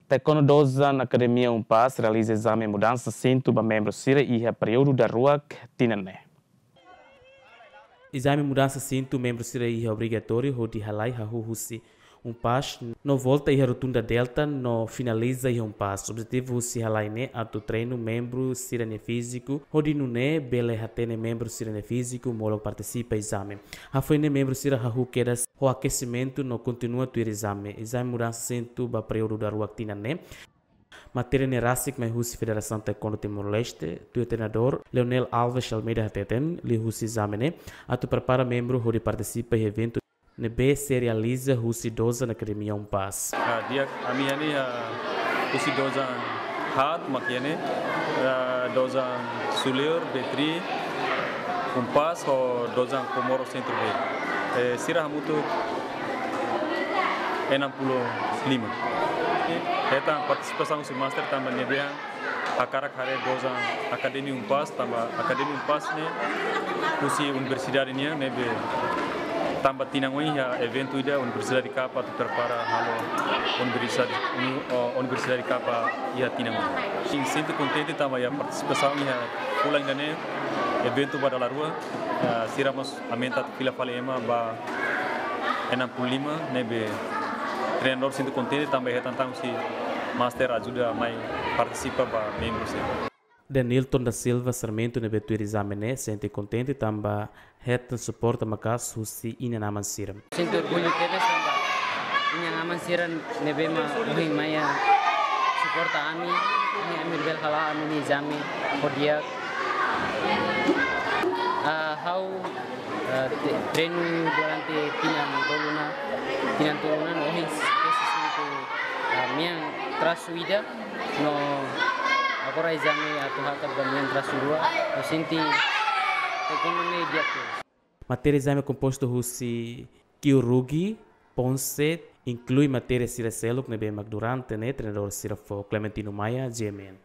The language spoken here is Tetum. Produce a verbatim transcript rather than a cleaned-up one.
Taekwondo Dozan Akademia UNPAZ realiza ezame mudansa sintu ba membru sira iha períodu daruak tinan ne'e. Ezame mudansa sintu membru sira iha obrigatóriu hodi halai hahú husi UNPAZ no volta iha Rotunda Delta no finaliza iha UNPAZ. Objetivu husi halai ne'e atu treinu membru sira-nia fíziku hodi nune'e bele hatene membru sira-nia fíziku molok partisipa ezame. Hafoin ne'e membru sira hahú kedas ho akesimentu no kontinua tuir ezame. Ezame mudansa sintu ba períodu daruak tinan ne'e. Matéria ne'e rasik mai husi Federasaun Taekwondo Timor-Leste, tuir treinadór Leonel Alves Almeida hateten, liuhusi ezame ne'e atu prepara membru hodi partisipa iha eventu ne'ebé sei realiza husi Dozan Akademia UNPAZ. Ah, di'ak, ami iha ne'e, ah, husi Dozan haat mak iha ne'e, ah, Dozan Suliur, B three, UNPAZ, ho Dozan Comoro Centro B. Eh, sira hamutuk enam puluh lima. Hetan partisipasaun husi master tanba nia dehan hakarak haree Dozan Akademia UNPAZ, tanba Akademia UNPAZ ne'e husi universidade nian, ne'ebé tanba tinan oin iha eventu ida universidade Kapa atu prepara halo universidade, uni-, o, universidade Kapa iha tinan oin. Sin, sente kontente tanba iha partisipasaun iha fulan ida-ne'e, eventu ba dala rua, eh, sira mós aumenta atu fila fali ema ba enam puluh lima, ne'ebé treinadór sente kontente tanba hetan tan husi master ajuda mai partisipa ba membru sira. Denilton da Silva Sarmento ne'ebé tuir ezame ne'e sente kontente tanba hetan suporta maka'as husi inan-aman sira. Sente orgullu tebes tanba inan-aman sira ne'ebé mak ohin mai suporta ami, ami, ami bele hala'o ami-nia ezame ho di'ak. Ah, ha'u, ah, te-, treinu durante tinan tolu ona, tinan tolu ona, no ohin tesi sinku, ah, mean trasu ida, no agora ezame atu hakat ba mean trasu rua, no sente taekwondo ne'e di'ak tebes. Matéria ezame kompostu husi Kyorugi, Ponset, inklui matéria sira seluk ne'ebé mak durante ne'e treinadór sira fó. Clementino Maia, G M N.